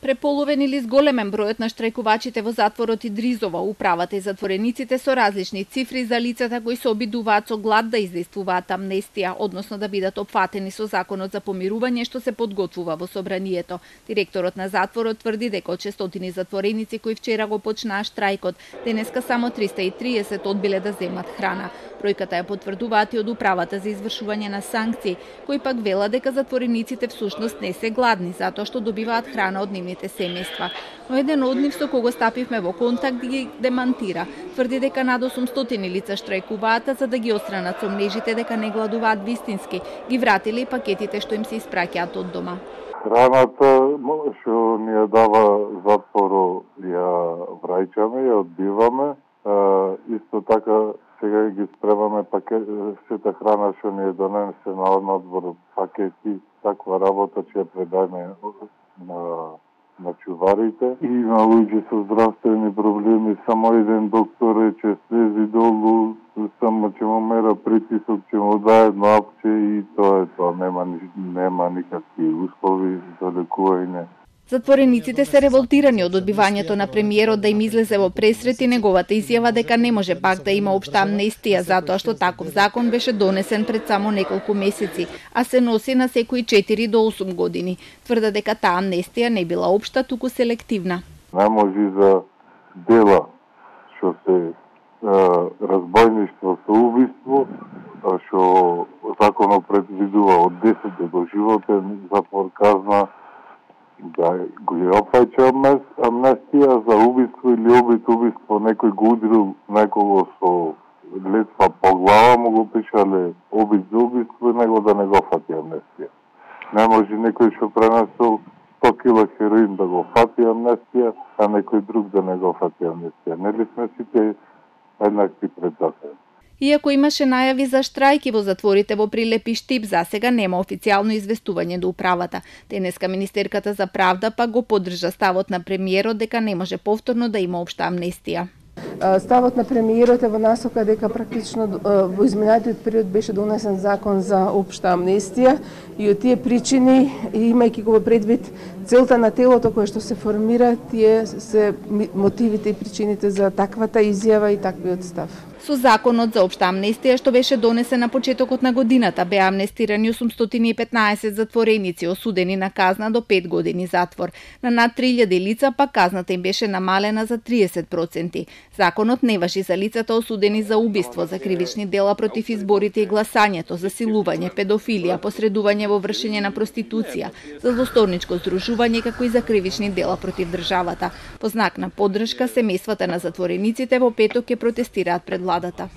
Преполовен или зголемен бројот на штрајкувачите во затворот Идризово, управата и затворениците со различни цифри за лицата кои се обидуваат со глад да издействуваат амнестија, односно да бидат опфатени со законот за помирување што се подготвува во собранието. Директорот на затворот тврди дека од 600 затвореници кои вчера го почнаа штрајкот, денеска само 330 одбиле да земат храна. Бројката ја потврдуваат и од управата за извршување на санкции, кои пак велат дека затворениците всушност не се гладни затоа што добиваат храна од нивните семејства. Но еден од нив со кого стапивме во контакт ги демантира. Тврди дека над 800 лица штрајкуваат за да ги отстранат со мрежите дека не гладуваат вистински. Ги вратиле и пакетите што им се испраќаат од дома. Храната што ни ја дава затворо ја враќаме, ја одбиваме. Исто така сега ги спремаме сета храна што ни е донесена од надвор, пакети, таква работа ќе ја предајме на чуварите. И на луѓе со здравствени проблеми, само еден доктор рече слези долу, само ќе му мера притисок, ќе му даде едно апче и тоа е тоа. Нема никакви услови за лекување. Затворениците се револтирани од одбивањето на премиерот да им излезе во пресрет и неговата изјава дека не може пак да има општа амнестија затоа што таков закон беше донесен пред само неколку месеци, а се носи на секои 4 до 8 години. Тврда дека таа амнестија не била општа, туку селективна. Не може за дела што се разбойништво со убиство, што законот предвидува од 10 до доживотен затвор казна, да го опфаќа амнестија за убиство или обид убиство, некој го удрил некого со летва по глава, му го пишале обид за убиство и него да не го фати амнестија. Не може некој што пренесел 100 кила хероин да го фати амнестија, а некој друг да не го фати амнестија. Нели сме сите еднакви пред закон? Иако имаше најави за штрајки во затворите во Прилеп и Штип, засега нема официјално известување до управата. Денеска министерката за правда пак го поддржа ставот на премиерот дека не може повторно да има општа амнестија. Ставот на премиерот е во насока дека практично во изминатиот период беше донесен закон за општа амнестија и од тие причини, имајќи го во предвид целта на телото кое што се формира, тие се мотивите и причините за таквата изјава и таквиот став. Со законот за општа амнестија што беше донесен на почетокот на годината, беа амнестирани 815 затвореници осудени на казна до 5 години затвор. На над 3000 лица пак казната им беше намалена за 30%. Законот не важи за лицата осудени за убиство, за кривични дела против изборите и гласањето, за силување, педофилија, посредување во вршење на проституција, за злосторничко здружување, како и за кривични дела против државата. По знак на поддршка, семејствата на затворениците во петок ќе протестираат пред владата.